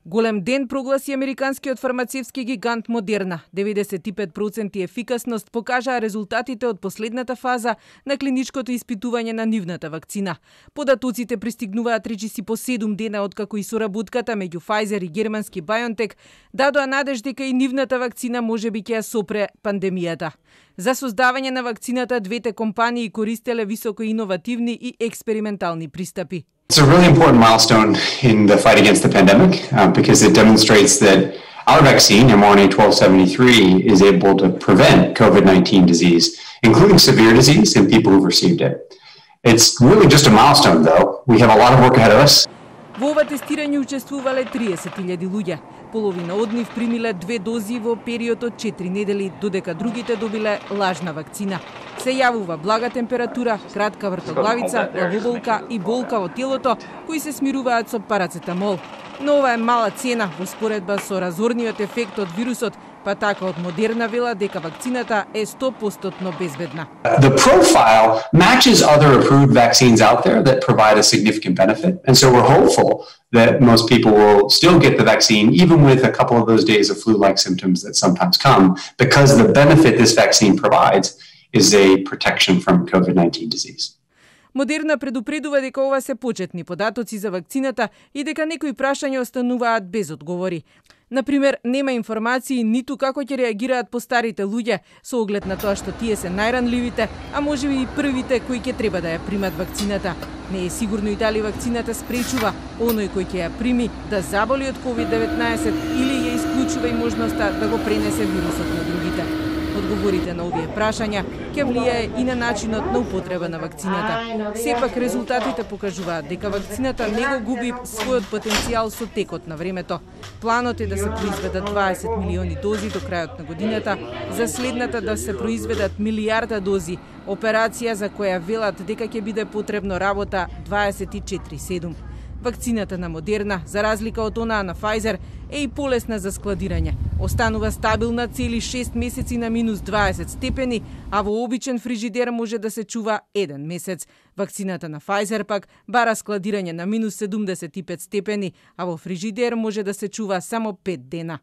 Голем ден прогласи американскиот фармацевски гигант Модерна. 95% ефикасност покажаа резултатите од последната фаза на клиничкото испитување на нивната вакцина. Податоците пристигнуваат речиси по 7 дена откако и соработката меѓу Pfizer и германски BioNTech дадоа надеж дека и нивната вакцина можеби ќе ја сопре пандемијата. За создавање на вакцината двете компании користеле високо иновативни и експериментални пристапи. It's a really important milestone in the fight against the pandemic because it demonstrates that our vaccine, mRNA-1273, is able to prevent COVID-19 disease, including severe disease in people who've received it. It's really just a milestone, though. We have a lot of work ahead of us. Во ова тестирање учествувале 30.000 луѓе. Половина од нив примиле 2 дози во период од 4 недели, додека другите добиле лажна вакцина. Се јавува блага температура, кратка вртоглавица, главоболка и болка во телото, кои се смируваат со парацетамол. Но ова е мала цена во споредба со разорниот ефект од вирусот, па така од Модерна вела дека вакцината е 100% безбедна. The profile matches other approved vaccines out there that provide a significant benefit, and so we're hopeful that most people will still get the vaccine even with a couple of those days of flu-like symptoms that sometimes come, because the benefit this vaccine provides is a protection from COVID-19 disease. Модерна предупредува дека ова се почетни податоци за вакцината и дека некои прашања остануваат без одговори. Например, нема информации ниту како ќе реагираат постарите луѓе со оглед на тоа што тие се најранливите, а можеби и првите кои ќе треба да ја примат вакцината. Не е сигурно и дали вакцината спречува оној кој ќе ја прими да заболи од COVID-19 или ја исклучува и можноста да го пренесе вирусот на другите. Одговорите на овие прашања ќе влијае и на начинот на употреба на вакцината. Сепак резултатите покажуваат дека вакцината не го губи својот потенцијал со текот на времето. Планот е да се произведат 20 милиони дози до крајот на годината, за следната да се произведат милијарда дози, операција за која велат дека ќе биде потребно работа 24/7. Вакцината на Модерна, за разлика од онаа на Pfizer, е и полесна за складирање. Останува стабилна цели 6 месеци на минус 20 степени, а во обичен фрижидер може да се чува 1 месец. Вакцината на Pfizer пак бара складирање на минус 75 степени, а во фрижидер може да се чува само 5 дена.